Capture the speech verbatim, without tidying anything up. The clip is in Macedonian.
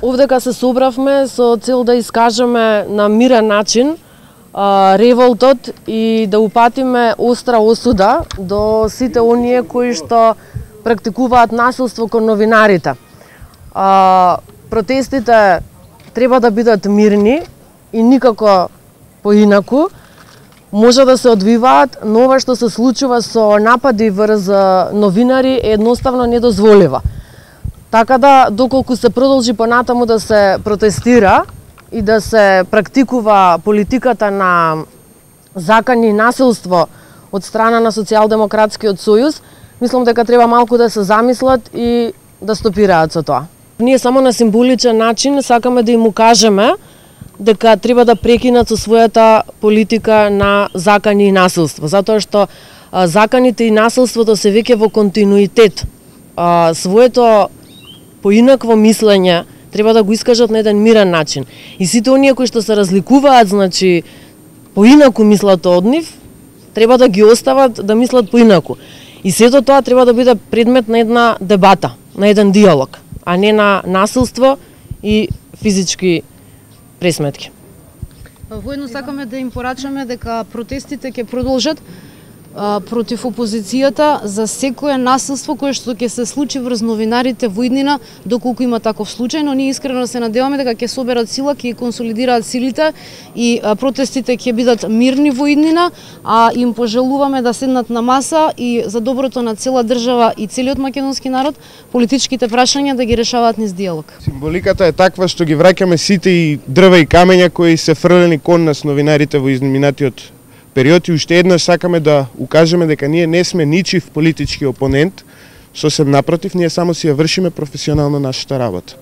Овдека се собравме со цел да искажеме на мирен начин а, револтот и да упатиме остра осуда до сите оние кои што практикуваат насилство кон новинарите. А, протестите треба да бидат мирни и никако поинаку. Може да се одвиваат, но ова што се случува со напади врз новинари е едноставно недозволива. Така да, доколку се продолжи понатаму да се протестира и да се практикува политиката на закани и насилство од страна на Социјалдемократскиот сојуз, мислам дека треба малку да се замислат и да стопираат со тоа. Ние само на символичен начин сакаме да им укажеме дека треба да прекинат со својата политика на закани и насилство, затоа што а, заканите и насилството се веќе во континуитет. А, своето поинакво мислење треба да го искажат на еден мирен начин. И сите оние кои што се разликуваат, значи, поинаку мислат од нив, треба да ги остават да мислат поинаку. И сето тоа треба да биде предмет на една дебата, на еден диалог, а не на насилство и физички пресметки. Воедно сакаме да им порачаме дека протестите ќе продолжат а, против опозицијата за секое насилство кое што ќе се случи врз новинарите во иднина, доколку има таков случај, но ние искрено се надеваме дека ќе соберат сила, ќе консолидираат силите и а, протестите ќе бидат мирни во иднина, а им пожелуваме да седнат на маса и за доброто на цела држава и целиот македонски народ политичките прашања да ги решаваат низ диалог. Символиката е таква што ги враќаме сите и дрва и камења кои се фрлени кон нас новинарите во изминатиот период и уште еднаш сакаме да укажеме дека ние не сме ничив политички опонент, сосем напротив, ние само си ја вршиме професионално нашата работа.